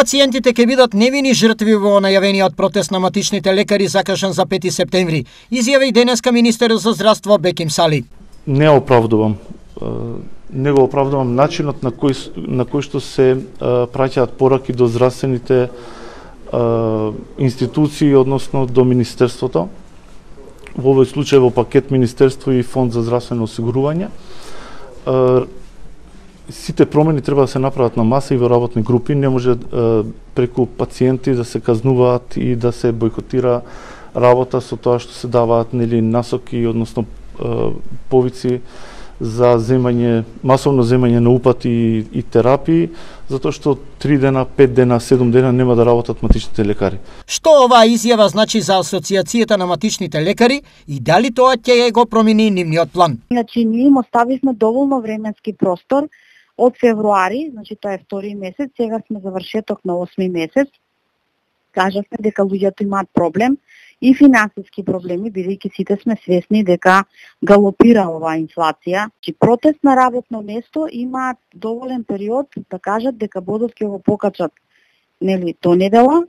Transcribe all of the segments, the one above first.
Пациентите ќе бидат невини жртви во најавениот протест на матичните лекари закажан за 5 септември, изјави денеска министерот за здравство Беким Сали. Не го оправдувам начинот на кој што се праќаат пораки до здравствените институции, односно до Министерството. Во овој случај во пакет Министерство и Фонд за здравствено осигурување. Сите промени треба да се направат на маса и во работни групи, не може преку пациенти да се казнуваат и да се бойкотира работа со тоа што се даваат насоки, односно повици за масовно земање на упати и терапии, затоа што 3 дена, 5 дена, 7 дена нема да работат матичните лекари. Што оваа изјава значи за Асоциацијата на матичните лекари и дали тоа ќе го промени нивниот план? Значи, ние им оставивме доволно временски простор од февруари, значи тоа е втори месец, сега сме завршеток на 8 месец. Кажавме дека луѓето имаат проблем и финансиски проблеми, бидејќи сите сме свесни дека галопира оваа инфлација. Чи протест на работно место имаат доволен период да кажат дека бодот ќе го покачат до недела.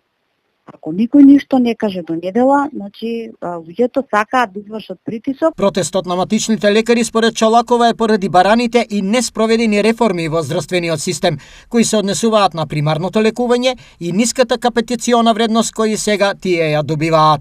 Ако никој ништо не каже до недела, значи луѓето сакаат да извршат притисок. Протестот на матичните лекари според Чолакова е поради бараните и неспроведени реформи во здравствениот систем, кои се однесуваат на примарното лекување и ниската капитациона вредност кои сега тие ја добиваат.